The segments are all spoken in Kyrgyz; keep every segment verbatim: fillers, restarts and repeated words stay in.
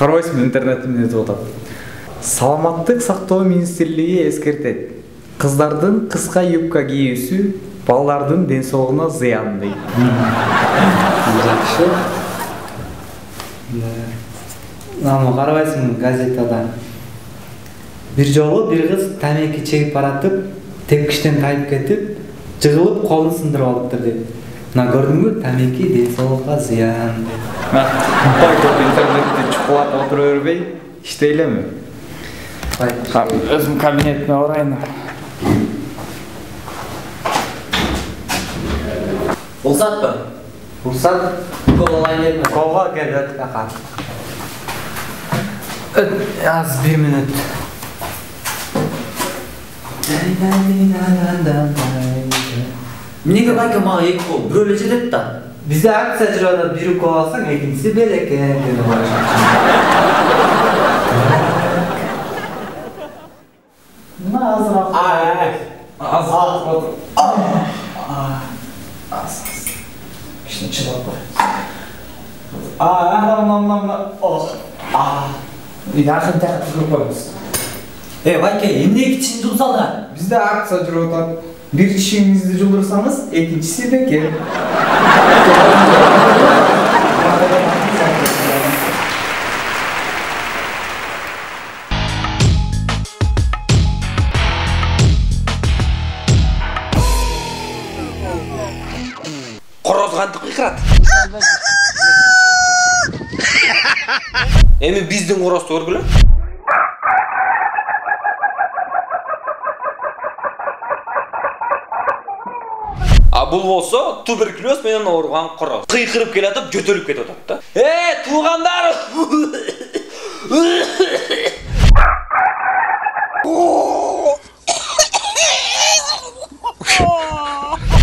карабайсыңбы интернет эмне деп атат. Саламаттык сактоо министрлиги эскертет. Кыздардын кыска юбка кийүүсү балдардын ден соолугуна зыян дейт. Жакшы. Намы карабайсыңбы газетада. Бир жолу бир кыз тамеки чегип баратып, тепкичтен тайып кетип, жыгылып колун сындырып алыптыр дейт. Мына көрдүңбү, тамеки ден соолукка зыян дейт. Байтоп интернетте чукулап отура бербей, иштейлеми? Өзүм кабинетиме барайын. Уруксатпы? Уруксат? Кол алайын эле. Колго келет ака. Аз бир мүнөт. Эмнеге байка мага эки кол? Бирөө эле жетет да. Бизде акция жүрүп атат, бири кол алсаң, экинчиси белекен деп коюшат. Мына азыраак. Азыраак. Аз. Кичине чыдап кой. А, мына ох. А. Жакын жакын жүрүп коебуз. Э, байке, эмне кичине жумсалда? Бизде акция жүрүп атат. Бир чишиңизди жулдурсаңыз, экинчиси бекер. Короз кантип кыйкырат? Эми биздин корозду көргүлө. А бул болсо туберкулез менен ооруган короз. Кыйкырып келатып, жөтөлүп кетип атат да. Э, туугандар!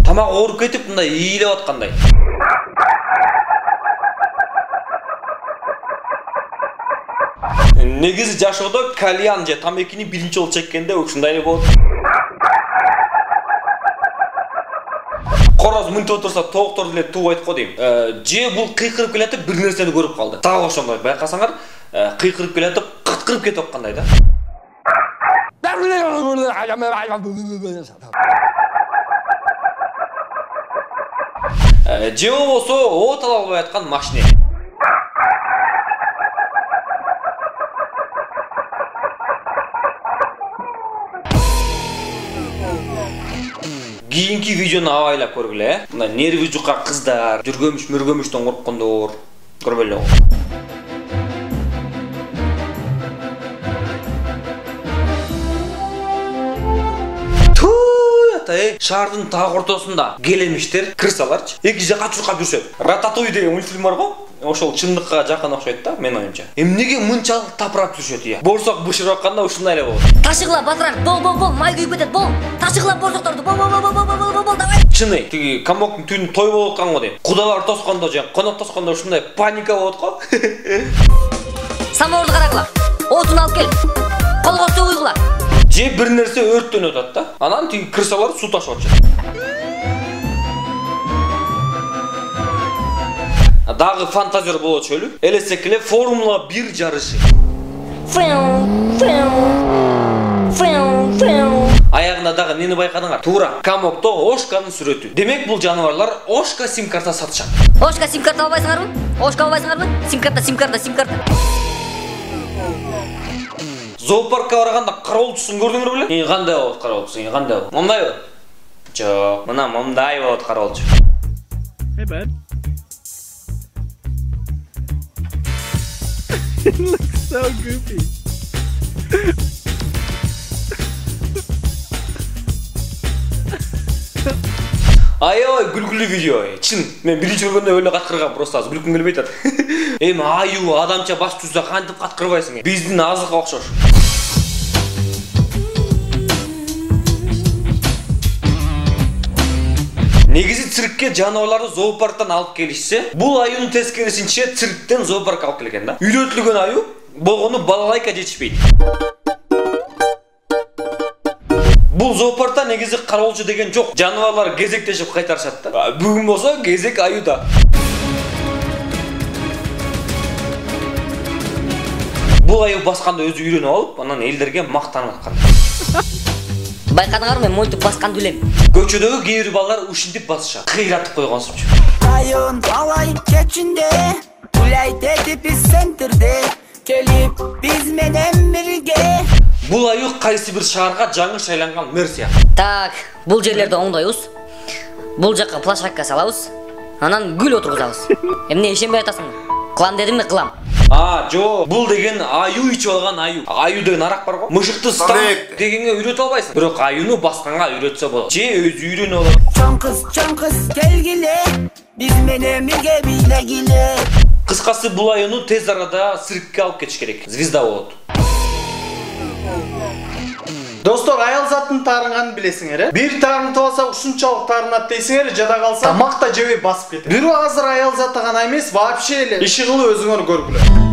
Тамак ооруп кетип, мындай ийилеп аткандай. Негизи жашоодо кальян же тамекини биринчи жолу чеккенде ушундай эле болот. Короз мынтип отурса тоокторду эле тууп айтып койдойм. Же бул кыйкырып келатып бир нерсени көрүп калды. Дагы ошондой байкасаңар, кыйкырып келатып кыткырып кетип аткандай да. Же болбосо от ала албай аткан машина. Кийинки видеону абайлап көргүлө, э? Мына нерви жука кыздар, жүргөмүш мөргөмүштөн корккондор, көрбөлү. Эй, шаардын так ортосунда келемиштер, кырсаларчы, эки жака чуркап жүрүшөт. Рататуй деген мультфильм бар го? Ошол чындыкка жакын окшойт да, мен оюмча. Эмнеге мынчалык тапырап жүрүшөт ия? Борсок бышырып атканда ушундай эле болот. Ташыгыла батыраак, бол бол бол, май күйүп кетет, бол. Ташыгыла борсокторду, бол бол бол бол бол бол бол, давай. Чыны, тиги камоктун түнү той болуп аткан го дейм. Кудалар тоскондо же конок тоскондо ушундай паника болот го. Самоорду карагыла. Отун алып кел. Колго суу куйгула. Же бир нерсе өрттөнүп атат да. Анан тиги кырсалар суу ташып атышат. Дагы фантазер болот чөлү. Элестек эле Формула бир жарышы. Аягында дагы нени байкадыңар? Туура, камокто Ошканын сүрөтү. Демек бул жаныбарлар Ошка сим-карта сатышат. Ошка сим-карта албайсыңарбы? Ошка албайсыңарбы? Сим-карта, сим-карта, сим-карта. Зоопаркка барганда кароолчусун көрдүңөр беле? Эң кандай болот кароолчу? Эң кандай болот? Момдайбы? Жок, мына момдай болот кароолчу. Hey bud. It looks so goofy. Ай-ой, күлкүлүү видео. Чын, мен биринчи көргөндө өлө каткыргам, просто азыр күлкүм келбей атат. Эми аю адамча бас түзсө кантип каткырбайсың? Биздин азыкка окшош. Негизи циркке жаныбарларды зоопарктан алып келишсе, бул аюнун тескерисинче цирктен зоопаркка алып келген да. Үйлөтүлгөн аю болгону балалайка жетишпейт. Бул зоопаркта негизи кароолчу деген жок. Жаныбарлар кезектешип кайтарышат да. Бүгүн болсо кезек аюда. Бул аюу басканды өзү үйрөнүп алып, анан элдерге мактанып аткан. Байкадыңарбы, мен мынтип басканды билем. Көчөдөгү кээ бир балдар ушинтип басышат. Кыйратып койгонсупчу. Айын алай кечинде, улайт этип центрде, келип биз менен бирге. Бул аюу кайсы бир шаарга жаңы шайланган мэр сыяктуу. Так, бул жерлерди оңдойбуз. Бул жакка площадка салабыз. Анан гүл отургузабыз. Эмне ишенбей атасың? Кылам дедимби, кылам. А, жо, бул деген аюу ичип алган аюу. Аюу деген арак бар го. Мышыкты стан дегенге үйрөтө албайсың. Бирок аюуну басканга үйрөтсө болот. Же өзү үйрөнүп алат. Чоң кыз, чоң кыз келгиле, биз менен бирге бийлегиле. Кыскасы бул аюуну тез арада циркке алып кетиш керек. Звезда болот. Достор, аял заттын таарынганын билесиңер, э? Бир таарынтып алса ушунчалык таарынат дейсиңер, жада калса тамак да жебей басып кетет. Бирок азыр аял заты гана эмес, вообще эле иши кылып өзүңөр көргүлө.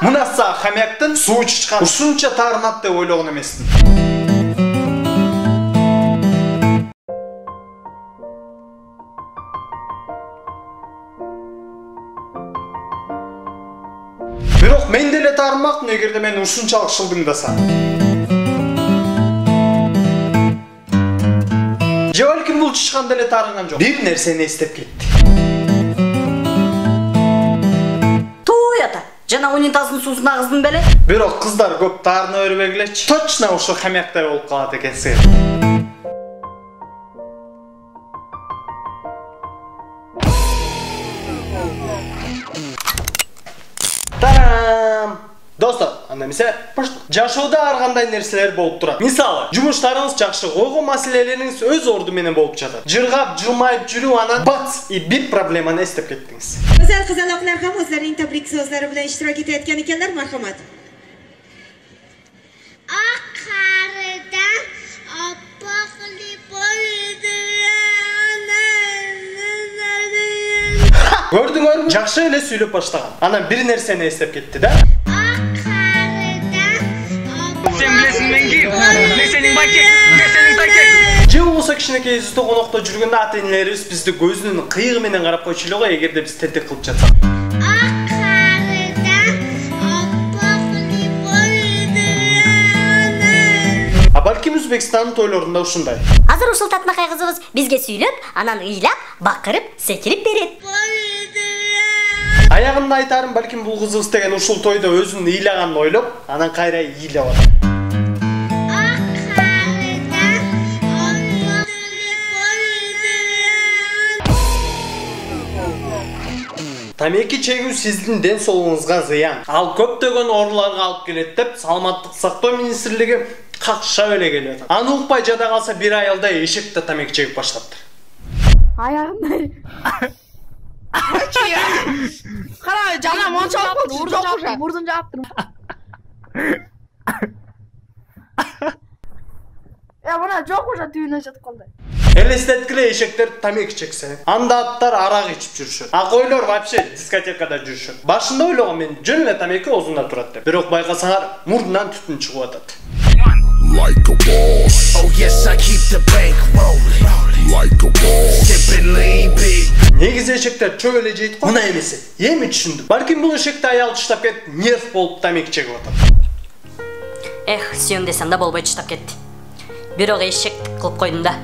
Мынаса хамяктын суу чычкан ушунча таарынат деп ойлогон эмесмин. Бирок мен деле таарынмакмын эгерде мен ушунчалык шылдыңдасам. Же балким бул чычкан деле таарынган жок. Бир нерсени эстеп кетти. Жана унитаздын суусун агыздым беле? Бирок кыздар көп таарына бербегилечи. Точно ошо хамяктай болуп калат экенсиңер. Тарам! Достор, анда эмесе, жашоодо ар кандай нерселер болуп турат. Мисалы, жумуштарыңыз жакшы, койгон маселелериңиз өз орду менен болуп жатат. Жыргап, жылмайып жүрүп, анан бац, и бир проблеманы эстеп кеттиңиз. Go'zal qizaloqlar ham o'zlarining tabrik so'zlari bilan ishtirok etayotgan ekanlar, marhamat. Oq qaridan oppoqli bo'ldi. Көрдүңөрбү? Жакшы эле сүйлөп баштаган. Анан бир нерсени эстеп кетти да. Sen bilesin men kim? Ne senin bakek, ne senin takek. Же болсо кичинекей үзүстө конокто жүргөндө ата-энелерибиз бизди көзүнүн кыйыгы менен карап койчу эле го, эгерде биз тентек кылып жатсак. А балким Өзбекстандын тойлорунда ушундай. Азыр ушул татынакай кызыбыз бизге сүйлөп, анан ыйлап, бакырып, секирип берет. Аягында айтарым, балким бул кызыбыз деген ушул тойдо өзүнүн ыйлаганын ойлоп, анан кайра ыйлап атат. Тамеки чегүү сиздин ден соолугуңузга зыян. Ал көптөгөн ооруларга алып келет деп Саламаттык сактоо министрлиги какшап эле келип атат. Аны укпай жада калса бир айылда эшекте тамеки чегип баштаптыр. Аягында. Кара, жана мончалык болду, урдун жаптыр, урдун жаптыр. Я мына жок уже түйүнө жатып калды. Элестеткиле, эшектер тамеки чексе, анда аттар арак ичип жүрүшөт. А койлор вообще дискотекада жүрүшөт. Башында ойлогом мен жөн эле тамеки оозунда турат деп. Бирок байкасаңар, мурдунан түтүн чыгып атат. Like a boss. Oh yes, I keep the bank rolling. Like a boss. Sipping lean big. Негизи эшектер чөп эле жейт го. Мына эмесе. Эми түшүндүм. Балким бул эшекте аял чыштап кетип, нерв болуп тамеки чегип атат. Эх, сүйөм десем да болбой чыштап кетти. Бирок эшектик кылып койдум да.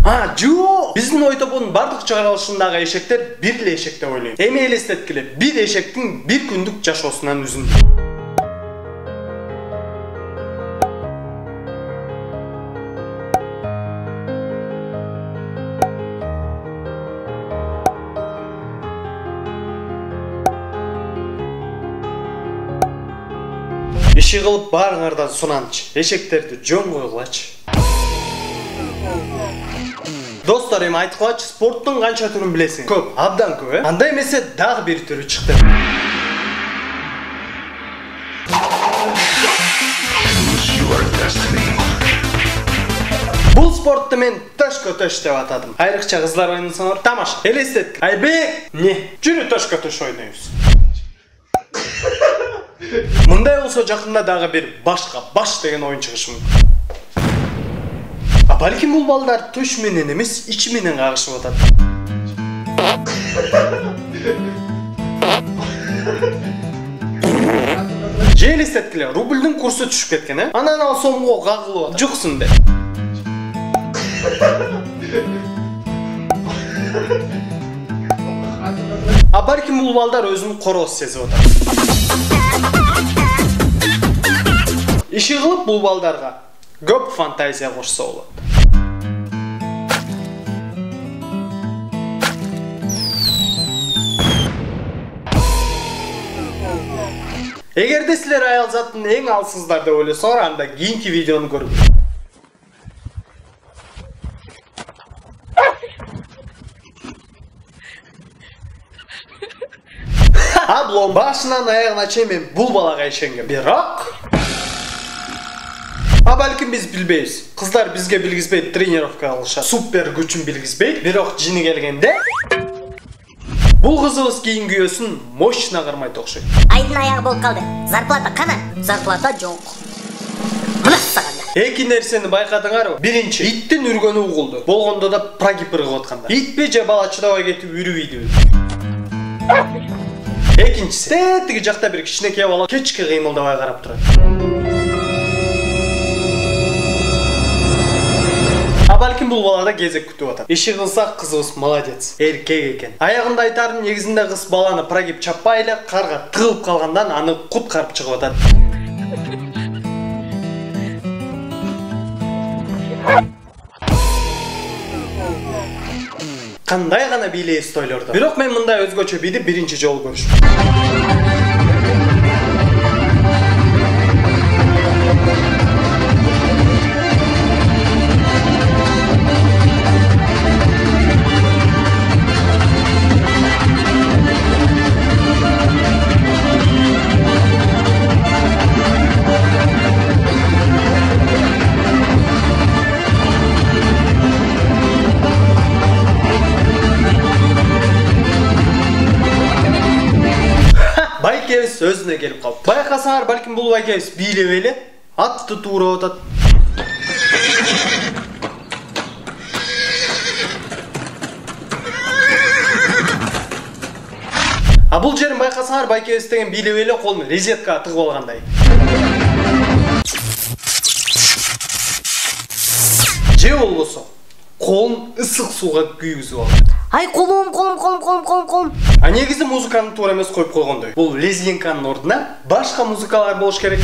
А, жо! Биздин ойтобонун бардык чыгарылышындагы эшектер бир эле эшек деп ойлойм. Эми элестеткиле, бир эшектин бир күндүк жашоосунан үзүндү. Иши кылып баарыңардан суранчы. Эшектерди жөн койгулачы. Достор, эми айткылачы, спорттун канча түрүн билесиң? Көп, абдан көп, э? Анда эмесе дагы бир түрү чыкты. Бул спортты мен төшкө төш деп атадым. Айрыкча кыздар ойносоңор тамаша. Элестетик. Айбек, не? Жүрү төшкө төш ойнойбуз. Мындай болсо жакында дагы бир башка баш деген оюн чыгышы мүмкүн. А балким бул балдар төш менен эмес, ичи менен кагышып атат. Же элестеткиле, рубльдүн курсу түшүп кеткен, э? Анан ал сомго кагылып атат. Жуксун деп. А балким бул балдар өзүн короз сезип атат. Иши кылып бул балдарга көп фантазия кошсо болот. Эгерде силер аял затын эң алсыздар деп ойлосоңор, анда кийинки видеону көрүңүздөр. Аблом башынан аягына чейин мен бул балага ишенгем. Бирок А балким биз билбейбиз. Кыздар бизге билгизбейт, тренировка кылышат. Супер күчүн билгизбейт. Бирок жини келгенде бул кызыбыз кийин күйөөсүн мощно кырмайт окшойт. Айдын аягы болуп калды. Зарплата кана? Зарплата жок. Мына саганда. Эки нерсени байкадыңарбы? Биринчи, иттин үргөнү угулду. Болгондо да прогиб ыргып атканда. Итпи же бала чыдабай кетип үрүбөйдүбү? Экинчиси, тетиги жакта бир кичинекей бала кечке кыймылдабай карап турат. А балким бул балада кезек күтүп атат. Иши кылсак кызыбыз молодец, эркек экен. Аягында айтарым, негизинде кыз баланы прогиб чаппай эле карга тыгылып калгандан аны куткарып чыгып атат. Кандай гана бийлейбиз тойлордо. Бирок мен мындай өзгөчө бийди биринчи жолу көрүшүм. Байкебиз өзүнө келип калды. Байкасаңар, балким бул байкебиз бийлеп эле атты туурап атат. А бул жерин байкасаңар, байкебиз деген бийлеп эле колун резеткага тыгып алгандай. Же болбосо колун ысык сууга күйгүзүп алат. Ай, колум, колум, колум, колум, колум, колум. А негизи музыканы туура эмес коюп койгондой. Бул лезгинканын ордуна башка музыкалар болуш керек.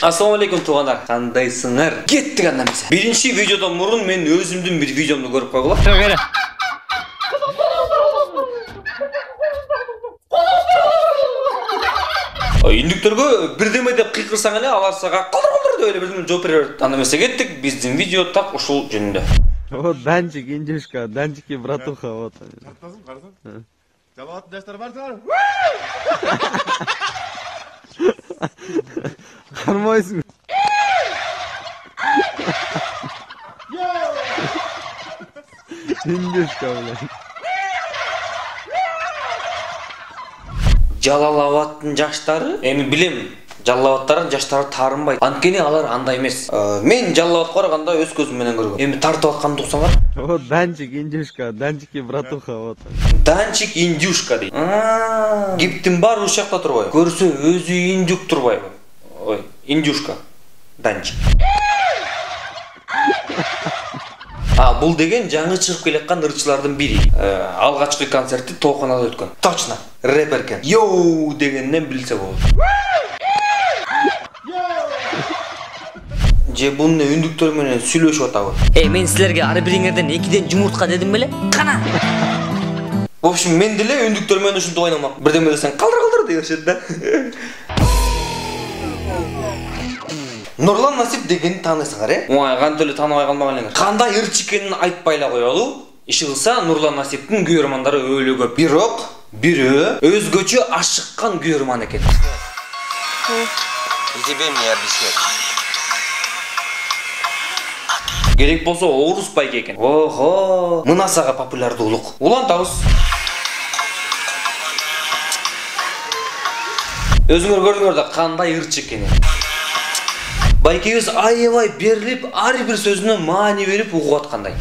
Ассаламу алейкум туугандар. Кандайсыңар? Кеттик анда эмесе. Биринчи видеодон мурун мен өзүмдүн бир видеомду көрүп койгула. Индүктөргө бирдеме деп кыйкырсаң эле алар сага калдыр калдыр деп эле бирдеме жооп бере берет. Анда эмесе кеттик, биздин видео так ушул жөнүндө. Вот Данчик, Индюшка, Данчики, братуха, вот. Жалават даштар барсыңар. Кармайсың. Индюшка, блядь. Жалалабаттын жаштары, эми билем, Жалалабаттардын жаштары таарынбайт. Анткени алар андай эмес. Мен Жалалабатка барганда өз көзүм менен көргөм. Эми тартып атканды уксаңар. Вот Данчик, Индюшка, Данчики, братуха, вот. Данчик, Индюшка дейт. Кептин баары ушул жакта турбайбы? Көрсө өзү индюк турбайбы? Ой, Индюшка, Данчик. А, бул деген жаңы чыгып келаткан ырчылардын бири. Алгачкы концерти тооканада өткөн. Точно, рэпер экен. Йоу дегенден билсе болот. Же буну үндүктөр менен сүйлөшүп атабы? Эй, мен силерге ар бириңерден экиден жумуртка дедим беле? Кана. В общем, мен деле үндүктөр менен ушинтип ойномак. Бирдеме десең, калдыр калдыр дешет да. Нурлан Насип дегенди тааныйсыңар, э? Ой, кантип эле тааныбай калмаган элеңер. Кандай ырчы экенин айтпай эле коелу. Иши кылса Нурлан Насиптин күйөрмандары өлө көп. Бирок бирөө өзгөчө ашыккан күйөрман экен. И тебе мне объяснять. Керек болсо орус байке экен. Ого, мына сага популярдуулук. Улантабыз. Өзүңөр көрдүңөр да кандай ырчы экенин. Байкебиз аябай берилип, ар бир сөзүнө маани берип угуп аткандай.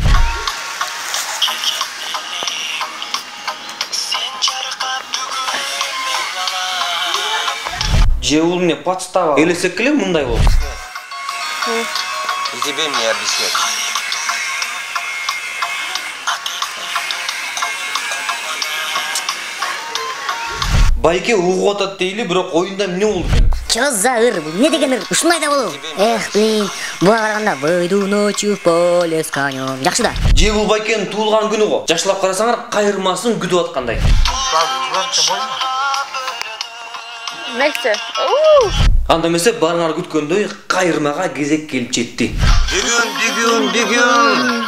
Же бул эмне подстава? Элесек эле мындай болду. И тебе мне объяснять. Байке угуп атат дейли, бирок оюнда эмне болду экен? Чё за ыр бул? Эмне деген ыр? Ушундай да болобу? Эх, блин, буга караганда выйду ночью в поле с конем. Жакшы да. Же бул байкенин туулган күнү го. Жакшылап карасаңар, кайырмасын күтүп аткандай. Нексте. Анда эмесе баарыңар күткөндөй кайырмага кезек келип жетти. Бүгүн, бүгүн, бүгүн.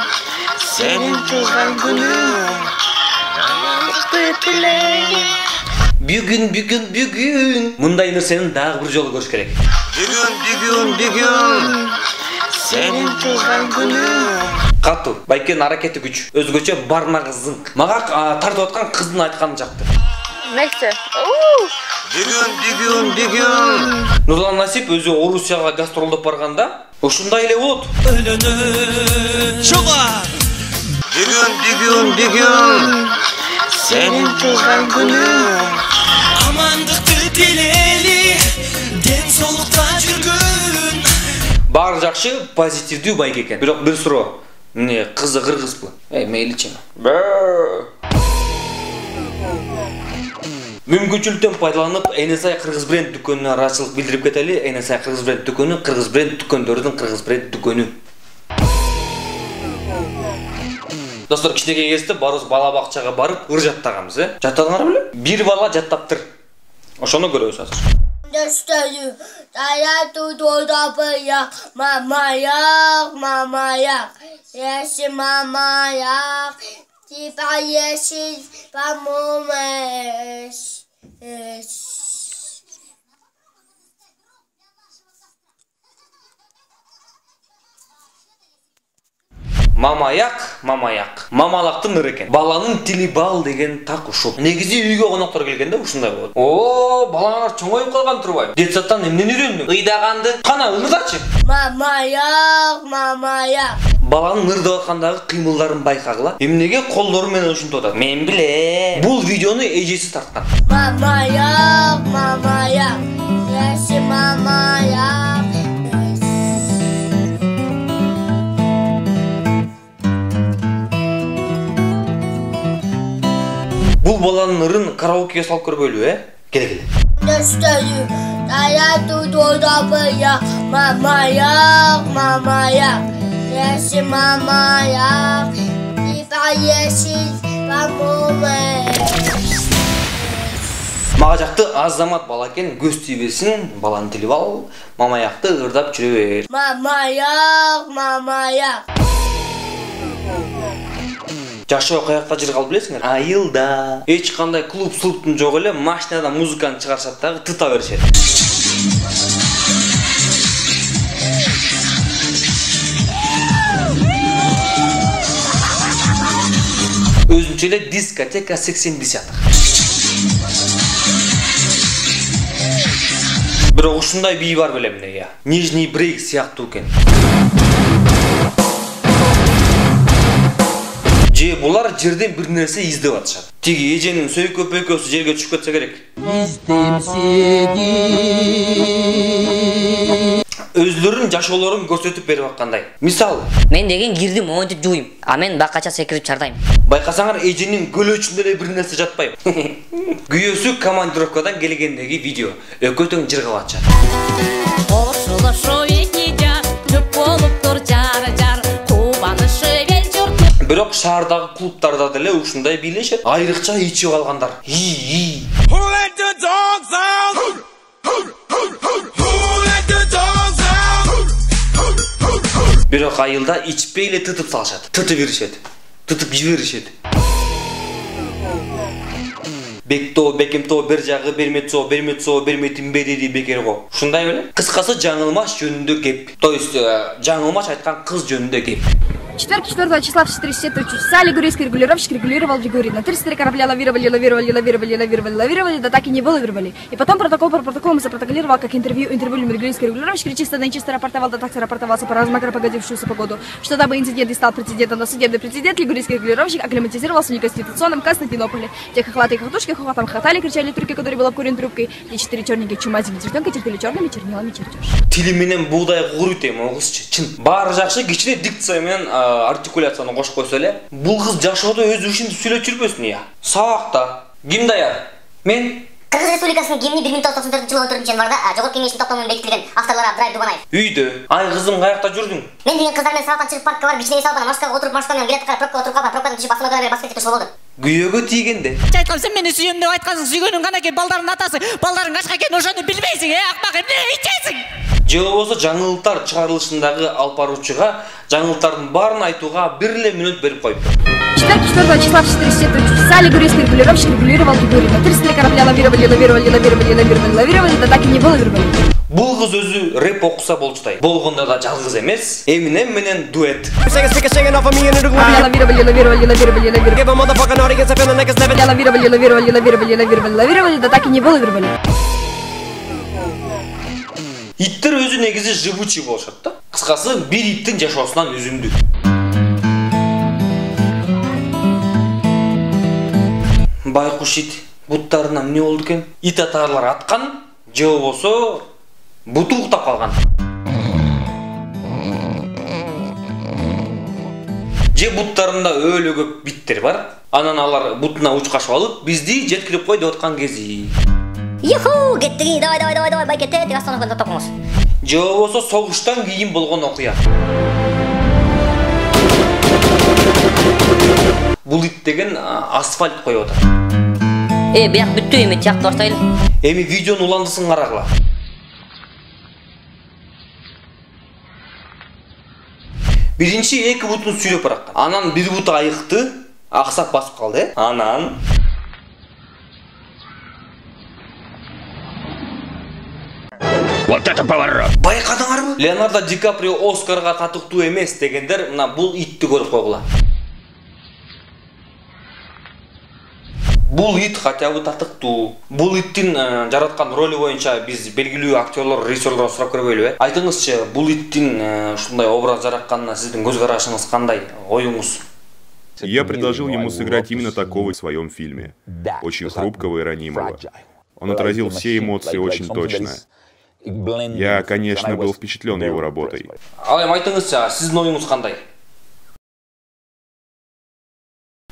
Сенин туулган күнүң. Амандыкты тилейм. Бүгүн, бүгүн, бүгүн. Мындай нерсени дагы бир жолу көрүш керек. Бүгүн, бүгүн, бүгүн. Сенин туулган күнүң. Катуу, байкенин аракети күч. Өзгөчө бармагы зыңк. Мага тартып аткан кыздын айтканы жакты. Нексте. Бүгүн, бүгүн, бүгүн. Нурлан Насип өзү Орусияга гастролдоп барганда ушундай эле болот. Өлөнө чуга. Бүгүн, бүгүн, бүгүн. Сенин туулган күнүң. Амандыкты тилейли, ден соолукта жүргүн. Баары жакшы, позитивдүү байке экен. Бирок бир суроо. Эмне кызы кыргызбы? Эй, мейличи. Мүмкүнчүлүктөн пайдаланып, Энесай Кыргыз бренд дүкөнүнө ыраазычылык билдирип кетели. Энесай Кыргыз бренд дүкөнү Кыргыз бренд дүкөндөрүнүн Кыргыз бренд дүкөнү. Достор, кичинекей кезде барыбыз бала бакчага барып ыр жаттаганбыз, э? Жаттадыңар беле? Бир бала жаттаптыр. Ошону көрөбүз азыр. Дöstörü, dayatı dodapıya, mamayak, mamayak, yeşil mamayak, tipa yeşil pamumeş. Мамаяк, мамаяк. Мамалактын ыры экен. Баланын тили бал деген так ушул. Негизи үйгө коноктор келгенде ушундай болот. О, балаңар чоңоюп калган турбайбы? Детсаттан эмнени үйрөндүң? Ыйдаганды. Кана ырдачы. Мамаяк, мамаяк. Баланын ырдап аткандагы кыймылдарын байкагыла. Эмнеге колдору менен ушинтип атат? Мен билем. Бул видеону эжеси тарткан. Мамаяк, мамаяк, yeşil mamayak. Бул баланын ырын караокеге салып көрбөйлүбү, э? Келе келе. Döstörü, dayatı dodapıya, mamayak, mamayak, yeşil mamayak, tipa yeşil pamumeş. Мага жакты Азамат бала экен, көз тийбесин, баланын тили бал, мамаякты ырдап жүрө бер. Мамаяк, мамаяк. Жашоо каякта жыр калып билесиңер? Айылда. Эч кандай клуб-слуптун жок эле, машинада музыканы чыгарышат дагы тыта беришет. Өзүнчө эле дискотека сексен десятых. Бирок ушундай бий бар белем эмне? Нижний брейк сыяктуу экен. Же булар жерден бир нерсе издеп атышат. Тиги эженин сөйкөп экөөсү жерге түшүп кетсе керек. Издем сени. Өзлөрүнүн жашоолорун көрсөтүп берип аткандай. Мисалы, мен деген кирдим монтип жууйм, а мен бакача секирип чардайм. Байкасаңар эженин көлөчүндө эле бир нерсе жатпайбы. Күйөөсү командировкадан келгендеги видео. Экөө тең жыргап атышат. Бирок шаардагы клубтарда деле ушундай бийлешет. Айрыкча ичип алгандар. И-и. Бирок айылда ичпей эле тытып салышат. Тытып беришет. тытып жиберишет. Бектоо, бекемтоо, бер жагы берметсо, берметсо, берметимбе деди бекер го. Ушундай беле? Кыскасы жаңылмаш жөнүндө кеп. То есть жаңылмаш айткан кыз жөнүндө кеп. четверг четвёртого числа в четыре часа три часа лигурийский регулировщик регулировал Лигурий. На тридцать три корабля лавировали, лавировали, лавировали, лавировали, лавировали, да так и не вылавировали. И потом протокол по протоколу запротоколировал, как интервью интервью регулийский регулировщик чисто да нечисто рапортовал, да так рапортовался по размакро погодившуюся погоду. Что дабы инцидент и стал прецедентом, но судебный прецедент лигурийский регулировщик акклиматизировался в неконституционном Константинополе. Те хохлатые хохотушки хохотом хохотали, кричали турки, который был обкурен трубкой. И четыре черненькие чумазики девчонки терпели черными чернилами чертеж. Тили менен бугдай куруйт эми о кызчы. Чын. Баары жакшы, кичине дикция менен артикуляция кошуп койсо эле, бул кыз жашоодо өз ишин сүйлөп жүрбөсүн я. Сабакта ким даяр? Мен Кыргыз Республикасынын гимни бир миң тогуз жүз токсон төртүнчү жылы он төртүнчү январда Жогорку кеңештин топтому менен бекитилген. Авторлору Абдраев Дубанаев. Үйдө. Ай кызым, каякта жүрдүң? Мен деген кыздар менен сабактан чыгып паркка барып, кичине эс алып, анан маршруткага отуруп, маршрутка менен билет карап, пробкага отуруп калып, пробкадан түшүп, басма берип басып кетип болду. Күйөөгө тийгенде. Айткам, сен мени сүйөм деп айткансың, сүйгөнүң кана экен, балдардын атасы, балдарың качка экенин ошону билбейсиң, э, акмак, эмне ичесиң? Же болбосо жаңылыктар чыгарылышындагы алып баруучуга жаңылыктардын баарын айтууга бир эле мүнөт берип коюптур. четверг четвёртого числа в четыре часа три часа лигурийский регулировщик регулировал Лигурий. На тридцать три корабля лавировали, лавировали, лавировали, лавировали, лавировали, да так и не вылавировали. Бул кыз өзү рэп окуса болчудай. Болгондо да жалгыз эмес, Eminem менен дуэт. Лавировали, лавировали, лавировали, лавировали, лавировали, лавировали, лавировали, лавировали, лавировали, да так и не вылавировали. Иттер өзү негизи живучий болушат да. Кыскасы бир иттин жашоосунан үзүндү. Байкуш ит буттарына эмне болду экен? Ит атарлар аткан, же болбосо буту уктап калган. Же буттарында өлө көп биттер бар. Анан алар бутуна учкашып алып, бизди жеткирип кой деп аткан кези. Юху, кеттиги, давай, давай, давай, давай, байкетте, деп остановкада токтоңуз. Же болбосо согуштан кийин болгон окуя. Бул ит деген асфальт коюп атат. Э, бияк бүттү, эми тиякты баштайлы. Эми видеонун уландысын карагыла. Биринчи эки бутун сүйрөп бараткан. Анан бир буту айыкты, аксап басып калды. Анан Вот это поворот! Байкадыңарбы? Леонардо Ди Каприо Оскарга татыктуу эмес дегендер мына бул итти көрүп койгула. Бул ит хотя бы татыктуу. Бул иттин жараткан роли боюнча биз белгилүү актерлор, режиссерлор сурап көрбөйлүбү? Айтыңызчы, бул иттин ушундай образ жаратканына сиздин көз карашыңыз кандай? Оюңуз? Я предложил ему сыграть именно такого в своем фильме. Очень хрупкого и ранимого. Он отразил все эмоции очень точно. Я, конечно, был впечатлен его работой. Ал эми айтыңызчы, сиздин оюңуз кандай?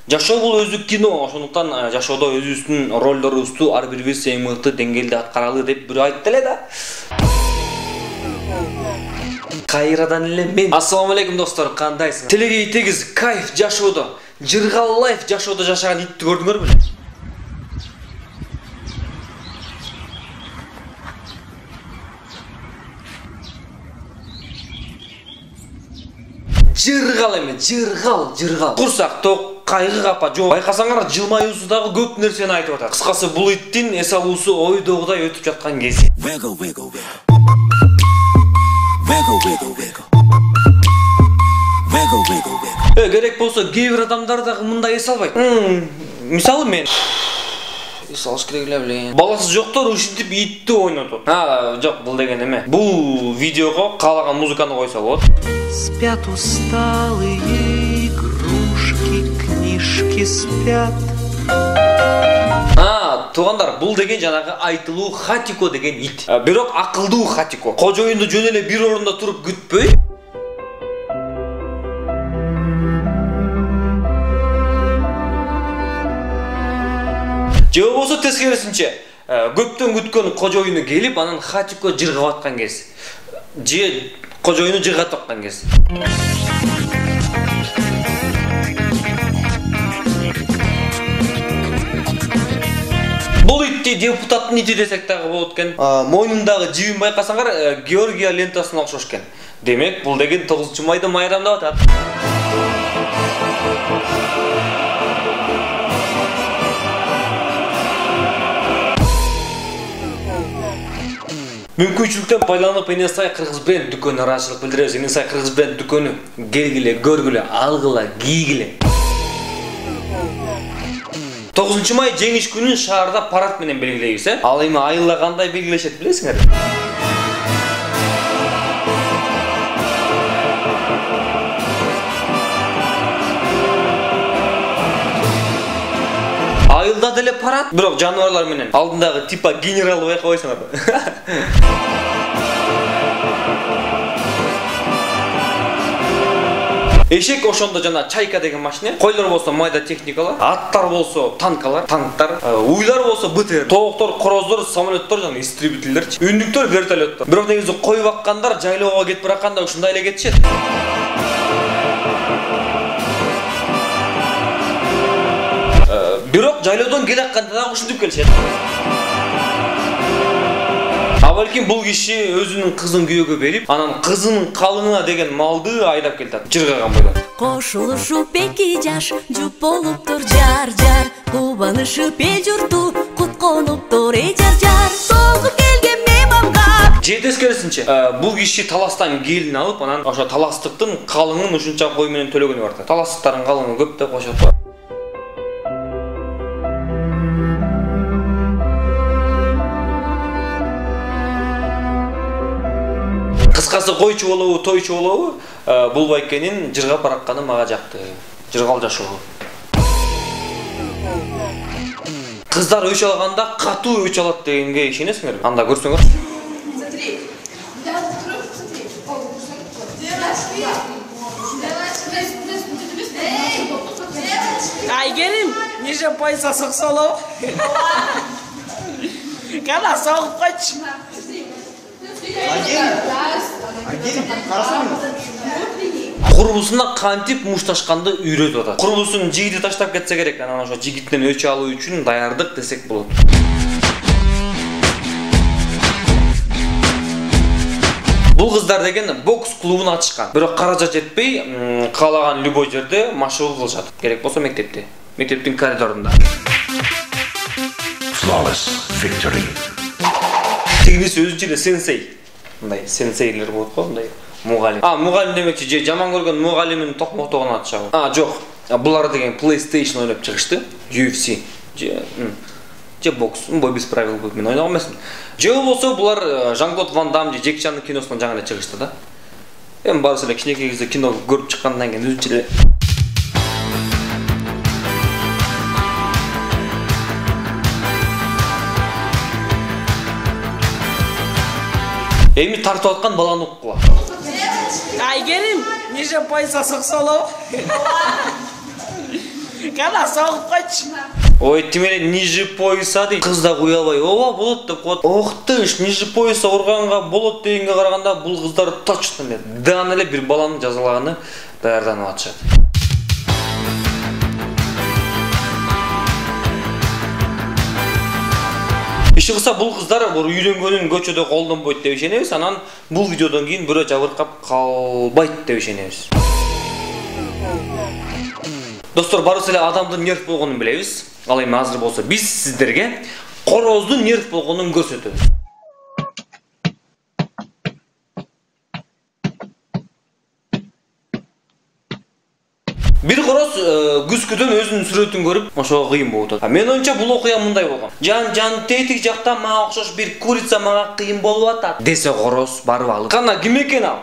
Жашоо бул өзү кино, ошондуктан жашоодо өзүбүздүн ролдорубузду ар бирибиз эң мыкты деңгээлде аткаралы деп бирөө айтты эле да. Кайрадан эле мен. Ассаламу алейкум достор, кандайсыңар? Телегей тегиз кайф жашоодо, жыргал лайф жашоодо жашаган итти көрдүңөрбү? Жыргал эме, жыргал, жыргал. Курсак ток, кайгы капа жок. Байкасаңар, жылмаюусу дагы көп нерсени айтып атат. Кыскасы бул иттин эс алуусу ойдогудай өтүп жаткан кези. Wiggle, wiggle, wiggle. Wiggle, wiggle, wiggle. Wiggle, wiggle, wiggle. Э, керек болсо кээ бир адамдар дагы мындай эс албайт. Мисалы мен эс алыш керек эле билем. Баласы жоктор ушинтип итти ойнотот. А, жок, бул деген эме. Бул видеого каалаган музыканы койсо болот. Спят усталые игрушки, книжки спят. А, туугандар, бул деген жанагы айтылуу Хатико деген ит. Бирок акылдуу Хатико. Кожоюнду жөн эле бир орунда туруп күтпөй. Же болбосо тескерисинче, көптөн күткөн кожоюну келип, анан Хатико жыргап аткан кез. Же кожоюну жыргатып аткан кез. Бул итти депутаттын ити десек дагы болот экен. Мойнундагы жибин байкасаңар, Георгия лентасына окшош экен. Демек, бул деген тогузунчу майда майрамдап атат. Мүмкүнчүлүктөн пайдаланып эне сай кыргыз бренд дүкөнүнө ыраазычылык билдиребиз. Эне сай кыргыз бренд дүкөнү келгиле, көргүлө, алгыла, кийгиле. тогузунчу май жеңиш күнүн шаарда парад менен белгилейбиз, э? Ал эми айылда кандай белгилешет билесиңер? Айылда деле парад, бирок жаныбарлар менен. Алдындагы типа генерал байкабайсыңарбы? Эшек ошондо жана чайка деген машина, койлор болсо майда техникалар, аттар болсо танкалар, танктар, уйлар болсо БТР, тооктор, короздор, самолеттор жана истребительдер, үндүктөр, вертолеттор. Бирок негизи кой баккандар жайлоого кетип баратканда ушундай эле кетишет. Бирок жайлоодон келе атканда дагы ушинтип келишет. А балким бул киши өзүнүн кызын күйөөгө берип, анан кызынын калыңына деген малды айдап келатат, жыргаган бойдон. Кошулушуп эки жаш, жуп болуптур жар-жар, кубанышып эл журту, кут конуптур эй жар-жар, соңку келген мейманга. Же тескерисинче, бул киши таластан келин алып, анан ошо таластыктын калыңын ушунча кой менен төлөгөнү бар да. Таластыктардын калыңы көп деп коюшат. Кыскасы койчу болобу, тойчу болобу, бул байкенин жыргап баратканы мага жакты. Жыргал жашоо. Кыздар өч алганда катуу өч алат дегенге ишенесиңерби? Анда көрсөңөр. Смотри. Айгерим, ниже пояса соксолоп. Кана согуп койчу. Курбусуна кантип мушташканды үйрөтүп атат. Курбусунун жигити таштап кетсе керек, анан ошо жигиттен өч алуу үчүн даярдык десек болот. Бул кыздар деген бокс клубун ачышкан. Бирок каражат жетпей, каалаган любой жерде машыгуу кылышат. Керек болсо мектепте, мектептин коридорунда. Flawless victory. Тигиниси өзүнчө эле сенсей. Мындай сенсейлер болот го, мындай мугалим. А, мугалим демекчи, же жаман көргөн мугалимин токмотогун атышабы. А, жок. Булар деген PlayStation ойноп чыгышты, ю эф си. Же, же бокс, бой без правил болуп мен ойногон эмесмин. Же болсо булар Жан-Клод Ван Дам же Джеки Чандын киносунан жаңы эле чыгышты да. Эми баарысы эле кичинекей кезде кино көрүп чыккандан кийин өзүнчө эле Эми тартып аткан баланы уккула. Айгерим, ниже пояса соксолоп. Кана согуп койчу. Ой, тимеле ниже пояса дейт. Кыз да куя албай, ооба болот деп коет. Ох тыш, ниже пояса урганга болот дегенге караганда бул кыздар точно эле дан эле бир баланы жазалаганы даярданып атышат. Иши кылса бул кыздар үйлөнгөнүн көчөдө колдонбойт деп ишенебиз, анан бул видеодон кийин бирөө жабыркап калбайт деп ишенебиз. Достор, барысы эле адамдын нерв болгонун билебиз. Ал эми азыр болсо биз сиздерге короздун нерв болгонун көрсөтөбүз. Бир короз күзгүдөн өзүнүн сүрөтүн көрүп, ошого кыйын болуп атат. Мен оюмча бул окуя мындай болгон. Жан-жан тетик жакта мага окшош бир курица мага кыйын болуп атат. Десе короз барып алып. Кана ким экен ал?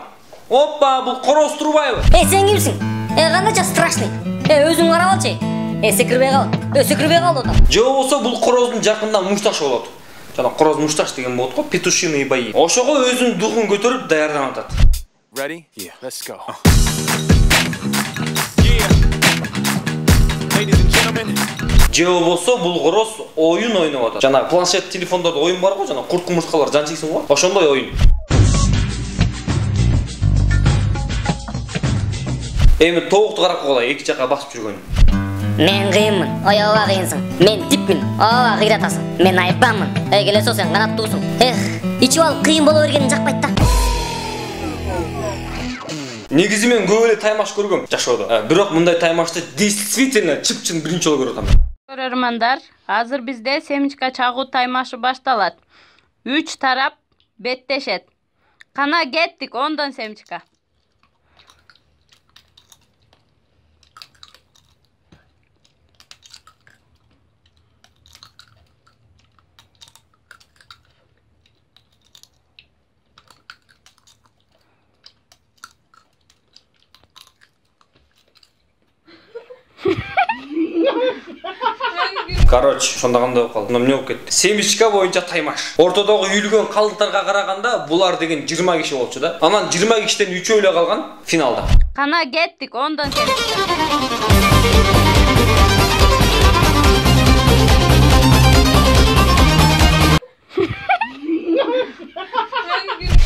Оппа, бул Короз Турбаева. Э, сен кимсиң? Э, кандайча страшный. Э, өзүң карап алчы. Э, секирбей кал. Э, секирбей кал атам. Же болсо бул короздун жакында мушташ болот. Жана короз мушташ деген болот го, петушиный бои. Ошого өзүнүн духун көтөрүп даярданып атат. Ready? Yeah, let's go. Же болсо бул короз оюн ойноп атат. Жана планшет телефондордо оюн бар го, жана курт кумурскалар жан чексиң го. Ошондой оюн. Эми тоокту карап койгула, эки жака басып жүргөн. Мен кыйынмын, аябай кыйынсың. Мен типмин, аябай кыйратасың. Мен айпамын. Эй, келесо сен канаттуусуң. Эх, ичип алып кыйын боло бергениң жакпайт да. Негизи мен көп эле таймаш көргөм жашоодо. Бирок мындай таймашты действительно чып-чын биринчи жолу көрүп атам. Көрөрмандар, азыр бизде семечка чагуу таймашы башталат. үч тарап беттешет. Кана кеттик, ондон Семчика. Короче, шонда кандай болуп калды? Эмне болуп кетти? Семичка боюнча таймаш. Ортодогу үйүлгөн калдыктарга караганда булар деген жыйырма киши болчу да. Анан жыйырма кишиден үчөө эле калган финалда. Кана кеттик, ондон Семчика.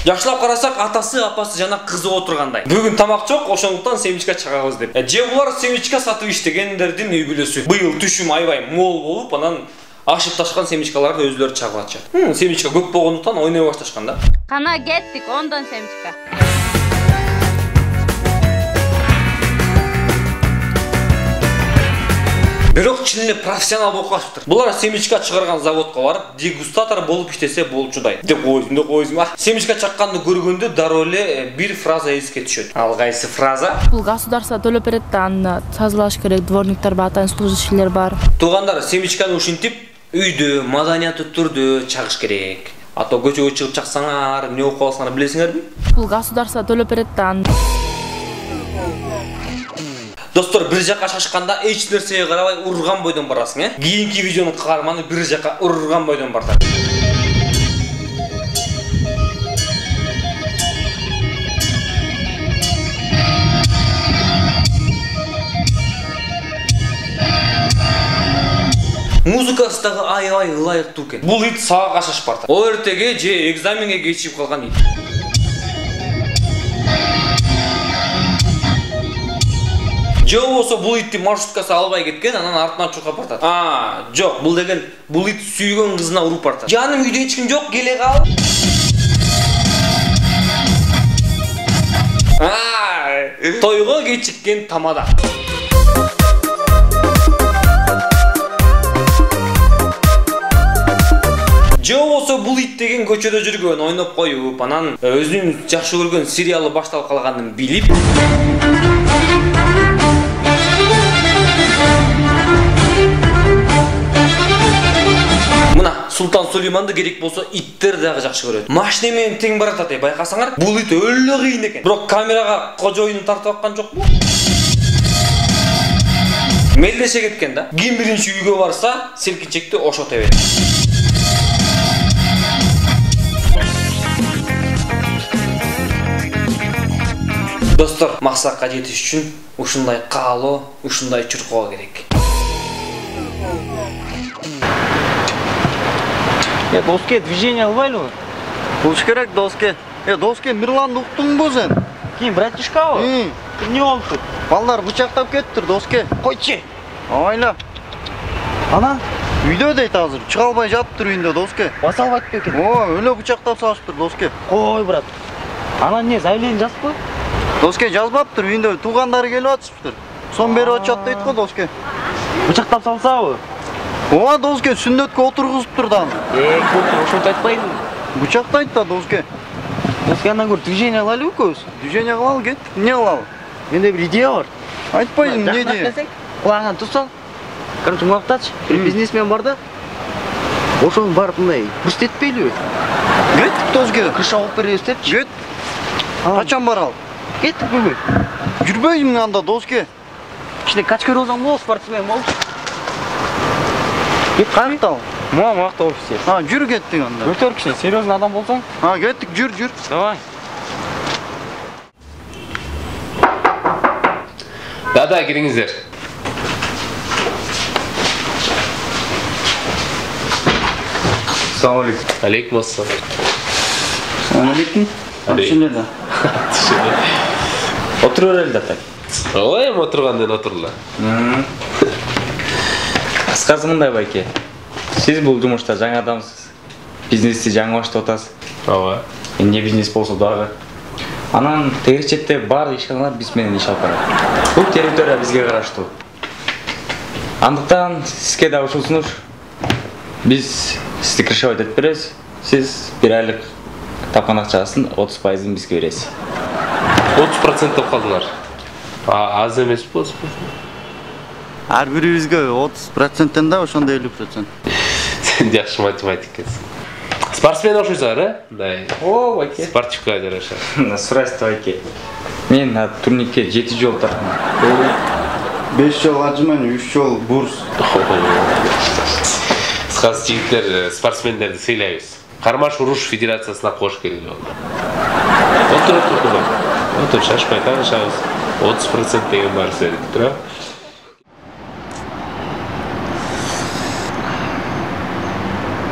Жакшылап карасак, атасы, апасы жана кызы отургандай. Бүгүн тамак жок, ошондуктан Семичка чыгабыз деп. Же булар Семичка сатып иштегендердин үй бүлөсү. Быйыл түшүм аябай мол болуп, анан ашып ташкан семичкаларды өзүлөрү чагып атышат. Семичка көп болгондуктан ойной башташкан да. Кана кеттик, ондон Семчика. Бирок чын эле профессионал болуп калыптыр. Булар семичка чыгарган заводко барып, дегустатор болуп иштесе болчудай. Деп койдум, деп койдум. Семичка чакканды көргөндө дароо эле бир фраза эске түшөт. Ал кайсы фраза? Бул государство төлөп берет да, аны тазалаш керек, дворниктер бар, атайын служащийлер бар. Туугандар, семичканы ушинтип үйдө, маданияттуу түрдө чагыш керек. А то көчөгө чыгып чаксаңар, эмне болуп каласыңар билесиңерби? Бул государство төлөп берет да, аны. Достор, бир жака шашканда эч нерсеге карабай урган бойдон барасың, э? Кийинки видеонун каарманы бир жака урган бойдон бартат. Музыкасы дагы аябай ылайыктуу экен. Бул ит сага кашашып бартат. О эртеге же экзаменге кечигип калган ит. Же болсо бул итти маршруткасы албай кеткен, анан артынан чуркап бартат. А, жок, бул деген бул ит сүйгөн кызына уруп бартат. Жаным, үйдө эч ким жок, келе кал. А, тойго кечиккен тамада. Же болсо бул ит деген көчөдө жүргөн, ойноп коюп, анан өзүнүн жакшы көргөн сериалы башталып калганын билип, мына Султан Сулейманды керек болсо иттер дагы жакшы көрөт. Машина менен тең баратат, э, байкасаңар, бул ит өлө кыйын экен. Бирок камерага кожоюну тартып аткан жокпу? Мелдеше кеткен да. Ким биринчи үйгө барса, селкинчекти ошо тебет. Достор, максатка жетиш үчүн ушундай каалоо, ушундай чуркоо керек. Э, доске, движение албайлыбы? Болуш керек, доске. Э, доске, Мирланды уктуңбу сен? Ким, братишкабы? Эмне болуптур? Балдар бычактап кеттир, доске. Койчу. Ойла. Анан? Үйдө дейт азыр, чыга албай жатыптыр үйүндө, доске. Баса албайт бекен? О, өлө бычактап салыштыр, доске. Кой, брат. Анан не, заявление жазыппы? Доске, жазбаптыр, үйүндө туугандары келип атышыптыр. Сом берип атышат дейт го, доске. Бычактап салсабы? Ооба, доске, сүннөткө отургузуптур да. Э, көп ошонтип айтпайбы? Бычактайт да, доске. Доске, андан көрүп движение кылайлыбы экөөбүз? Движение кылалы, кет. Эмне кылалы? Менде бир идея бар. Айтпайсың, эмне идея? Кулагыңан тусал. Короче, муктач, бир бизнесмен бар да. Ошону барып мындай көрсөтпөйлүбү? Кеттик, доске. Крыша алып беребиз депчи. Кет. Качан баралы? Кеттик бүгүн. Жүрбөйсүң анда, доске. Кичине качкөр болсоң болот, спортсмен болчу. Кет, каяктабы? Мына муакта офисте. А, жүр кеттик анда. Өтөр кичине серьезный адам болсоң. А, кеттик, жүр, жүр. Давай. Да-да, кириңиздер. Assalamu alaikum. Алейкум ассалам. Assalamu alaikum. Түшүнө да. Түшүнө. Отура бер эле ата. Ой, эми отурганден отурла. Кыскасы мындай байке. Сиз бул жумушта жаңы адамсыз. Бизнести жаңы баштап атасыз. Ооба. Эмне бизнес болсо дагы. Анан тегири четте баардык ишканалар биз менен иш алып барат. Бул территория бизге караштуу. Андыктан сизге да ушул сунуш. Биз сизди крышевать этип беребиз. Сиз бир айлык тапкан акчасын отуз пайызын бизге бересиз. отуз процент деп калдыңар. Аз эмеспи отуз процент? Ар бирибизге отуз проценттен да ошондой элүү процент. Сен жакшы математик экенсиң. Спортсмен окшойсуңар, э? Мындай. О, байке. Спортивка жараша. Сурайсыз байке. Мен турникке жети жолу тарттым. беш жол ажыман, үч жол бурс. Кыз жигиттер спортсмендерди сыйлайбыз. Кармаш уруш федерациясына кош келген жол. Отур, отур, отур. Отур, шашпай таанышабыз. отуз процент деген бар сен, тура.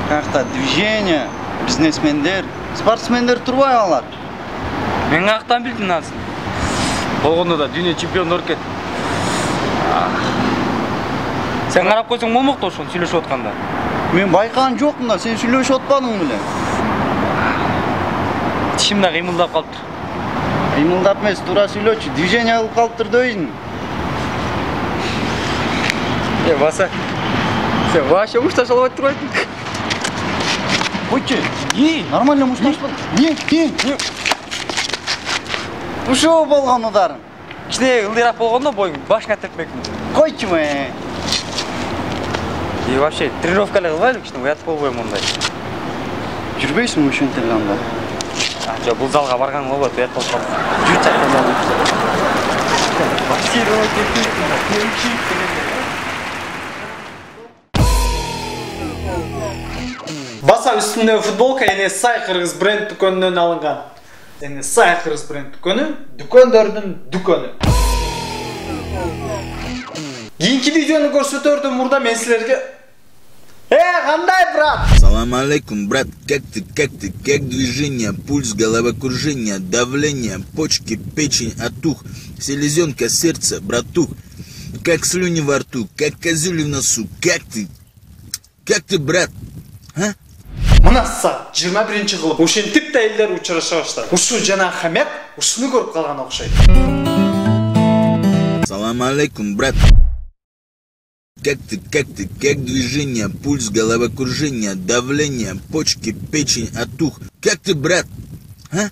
Какта движение, бизнесмендер, спортсмендер турбай алар. Мен каяктан билдим азыр? Болгондо да дүйнө чемпиону өркет. Сен карап койсоң болмок да ошону сүйлөшүп атканда. Мен байкаган жокмун да, сен сүйлөшүп атпадың беле? Тишим да кыймылдап калыптыр. Кыймылдап эмес, туура сүйлөчү, движение кылып калыптыр дейсиң. Э, баса. Сен вообще мушташ албай турбайсың. Койчу, не, нормально мушташпадың. Не, не, ушул болгон ударың. Кичине ылдыйраак болгондо боюң башыңа тепмекмин. Койчу ме. И вообще тренировка эле кылбайлы, кичине уятып болбойм мондай. Жүрбөйсүңбү ушентип анда? А, жок, бул залга барганым болбойт, уят болуп калды. Жүр чакырып. Баса үстүндө футболка эне сай кыргыз бренд дүкөнүнөн алынган. Эне сай кыргыз бренд дүкөнү, дүкөндөрдүн дүкөнү. Кийинки видеону көрсөтөрдөн мурда мен силерге Э, кандай, брат? Салам алейкум, брат. Как ты, как ты, как движение, пульс, головокружение, давление, почки, печень, отух, селезенка, сердце, братух. Как слюни во рту, как козюли в носу. Как ты? Как ты, брат? А? Мынаса жыйырма биринчи кылып ушинтип да элдер учураша баштады. Ушу жана хамят ушуну көрүп калган окшойт. Салам алейкум, брат. Как ты, как ты, как движение, пульс, головокружение, давление, почки, печень, отух. Как ты, брат? А?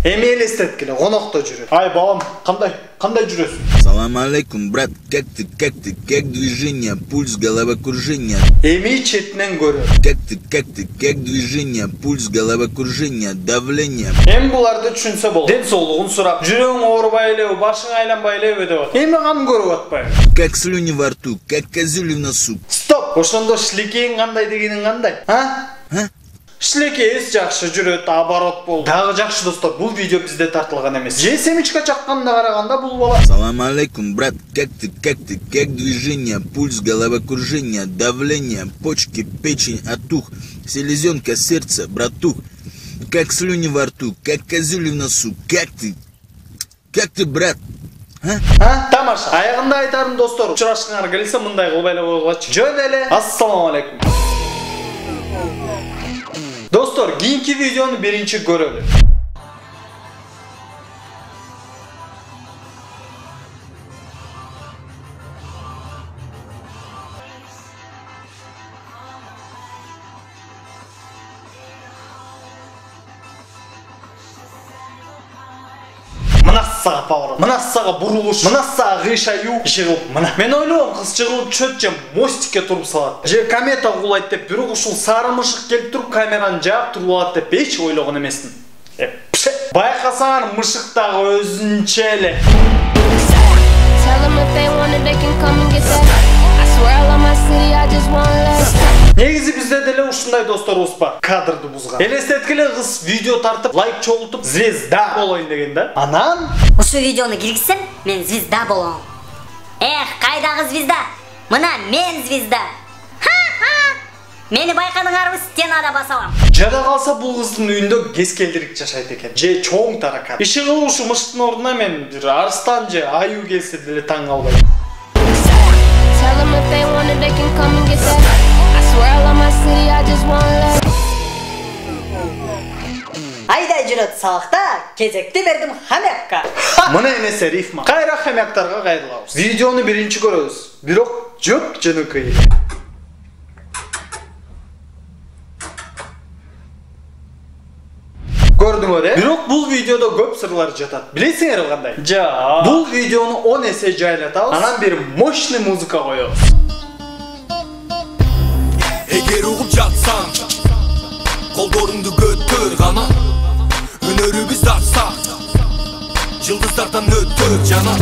Эми элестеткиле, конокто жүрөт. Ай, балам, кандай, кандай жүрөсүң? Салам алейкум, брат. Как ты, как ты, как движение, пульс, головокружение. Эми четинен көрөт. Как ты, как ты, как движение, пульс, головокружение, давление. Эми буларды түшүнсө болот. Ден соолугун сурап, жүрөгүң оорубай элеби, башың айланбай элеби деп атат. Эми каны көрүп атпайбы? Как слюни во рту, как козюли в носу. Стоп! Ошондо шилекейиң кандай дегениң кандай? А? А? Шилекейиңиз жакшы жүрөт, оборот болду. Дагы жакшы достор, бул видео бизде тартылган эмес. Же семечка чакканда караганда бул бала. Салам алейкум, брат. Как ты, как ты, как движение, пульс, головокружение, давление, почки, печень, отух, селезенка, сердце, братух. Как слюни во рту, как козюли в носу. Как ты? Как ты, брат? А? А? Тамаша. Аягында айтарым достор, учурашкыңар келсе мындай кылбай эле койгулачы. Жөн эле. Ассаламу алейкум. Достор, кийинки видеону биринчи көрөлү. Мынасага поворот, мынасага бурулуш, мынасага кыйшаю жыгылып, мына. Мен ойлойм, кыз жыгылып чөт же мостикке туруп салат. Же комета кулайт деп, бирок ушул сары мышык келип туруп камераны жаап туруп алат деп эч ойлогон эмесмин. Байкасаңар мышык дагы өзүнчө эле. Негизи бизде деле ушундай досторубуз бар. Кадрды бузган. Элестеткиле кыз видео тартып, лайк чогултуп, звезда болоюн деген да. Анан ушу видеону киргизсем, мен звезда болом. Эх, кайдагы звезда? Мына мен звезда. Ха-ха! Мени байкадыңарбы, стенада басалам. Жада калса бул кыздын үйүндө кескелдирик жашайт экен. Же чоң таракан. Иши кылып ушу мышыктын ордуна мен бир арстан же аю келсе деле таң калбайм. Айдай жүрөт сабакта, кезекти бердим хамякка. Мына эмесе рифма. Кайра хамяктарга кайрылабыз. Видеону биринчи көрөбүз. Бирок жөп жөнөкөй. сырлар жатат. Билесиңерби кандай? Жа. Бул видеону он эсе жайлатабыз. Анан бир мощный музыка коебуз. Эгер угуп жатсаң, колдоруңду көтөр гана. Өнөрүбүз ачсак, жылдыздардан өтөр жана.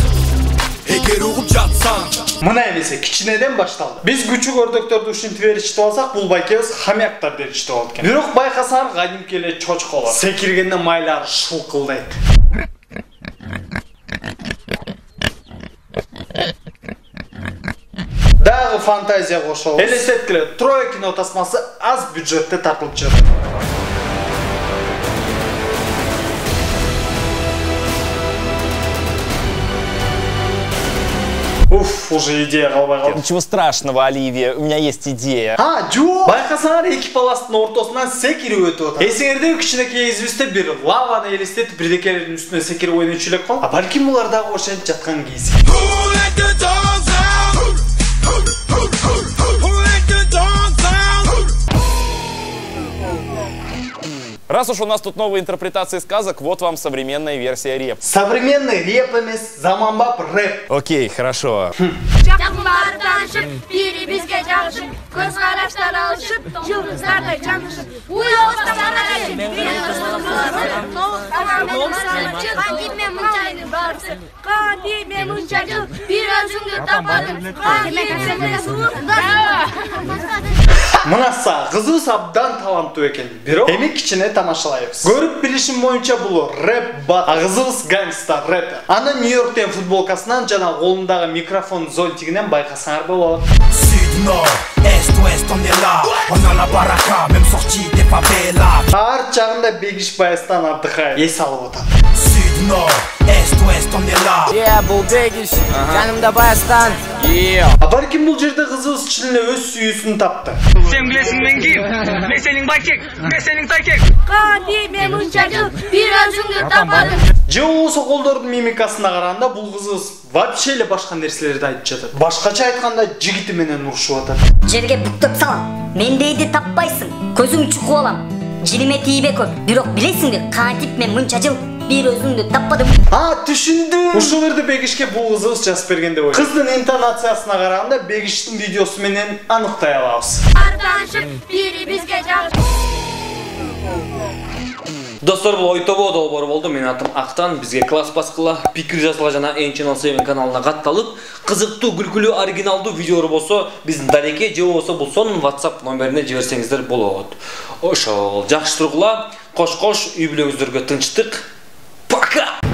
Эгер угуп жатсаң, мына эмесе кичинеден башталды. Биз күчүк өрдөктөрдү ушинтип беришти болсак, бул байкебиз хамяктар беришти болот экен. Бирок байкасаңар кадимки эле чочколор. Секиргенде майлар шылкылдайт. Дагы фантазия кошобуз. Элестеткиле, Троя кино тасмасы аз бюджетте тартылып жатат. Уф, уже идея калбай калды. Ничего страшного, Оливия, у меня есть идея. А, жо! Байкасаңар эки паластын ортосунан секирип өтүп атат. Эсиңерде кичинекей извизде бир лаваны элестетип бирдекелердин үстүнө секирип ойночу элек кол. А балким булар дагы ошентип жаткан кейси. Раз уж у нас тут новые интерпретации сказок, вот вам современная версия реп. Современный реп эмес, заманбап рэп. Окей, хорошо. Жакынбары таанышып, бири бизге жагышып, көз караштар алышып, жылдыздардай жанышып, уябыздан карашып, кандиме мынчайдын барысы, кандиме мынча жыл, бир өзүңдү тападым, кандиме суур. Мынаса кызыбыз абдан таланттуу экен. Бирок эми кичине тамашалайбыз. Көрүп билишим боюнча бул рэп бат, а кызыбыз гангста рэпер. Аны Нью-Йорктен футболкасынан жана колундагы микрофон зонтигинен байкасаңар болот. Ар жагында Бегиш Баястан отдыхает, эс алып атат. Е, бул Бегиш, жанымда Баястан. А балким бул жерде кызыбыз чын эле өз сүйүүсүн тапты. Сен билесиң мен ким? Мен сенин байкек, мен сенин тайкек. Кандиме мынча жыл, бир өзүңдү тападым. Же болбосо колдордун мимикасына караганда бул кызыбыз вообще эле башка нерселерди айтып жатат. Башкача айтканда жигити менен урушуп атат. Жерге буктап салам. Мендейди таппайсың. Көзүң чукуп алам. Жилиме тийбе көп. Бирок билесиңби, кантип мен мынча жыл бир өзүңдү таппадым. А, түшүндүм. Ушул жерде Бегишке бул кызыбыз жазып берген деп ойлойм. Кыздын интонациясына караганда Бегиштин видеосу менен аныктай алабыз. Артанышып, бири бизге жагышып. Достор, бул ой тобоо долбоору болду. Менин атым Актан. Бизге класс баскыла, пикир жазгыла жана Эн Channel севен каналына катталып, кызыктуу, күлкүлүү, оригиналдуу видеолор болсо, биздин Дареке же болбосо бул сонун WhatsApp номерине жиберсеңиздер болот. Ошол, жакшы тургула, кош-кош, үй бүлөңүздөргө тынчтык. Пока!